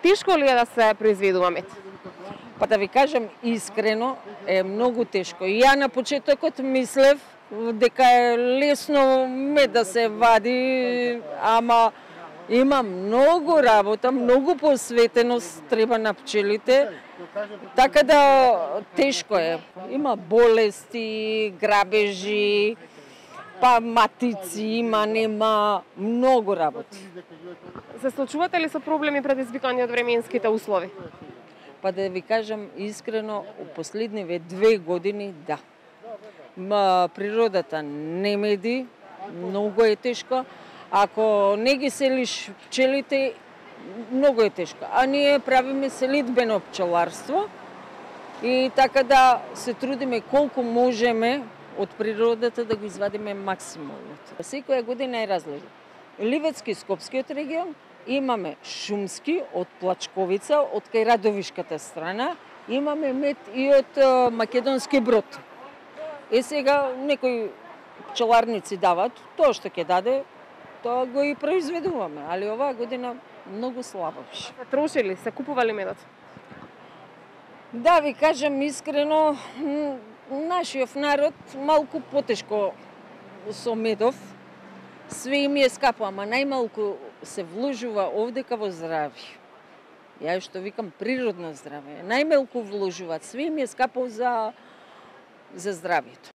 Тешко ли е да се произведува мед? Па да ви кажам искрено, е многу тешко. Ја на почетокот мислев дека е лесно мед да се вади, ама има многу работа, многу посветеност треба на пчелите, така да тешко е. Има болести, грабежи, па матици има, нема, многу работи. Се соочувате ли со проблеми предизвикани од временските услови? Па да ви кажам искрено, у последниве 2 години да. Природата не меди, многу е тешко. Ако не ги селиш пчелите, многу е тешко. А ние правиме селидбено пчеларство и така да се трудиме колку можеме од природата да го извадиме максимумот. Секоја година е различно. Ливецки, Скопскиот регион, имаме шумски од Плачковица, од кај Радовишката страна, имаме мед и од Македонски Брод. Сега некои пчеларници дават, тоа што ќе даде, тоа го и произведуваме, али оваа година многу слабо беше. Се трошили, се купували медот? Да ви кажам искрено, нашиот народ малку потешко со медов, све им е скапо, ама најмалку се вложува овдека во здравје. Ја што викам природно здравје. Најмалку вложуваат, све им е скапо за здравјето.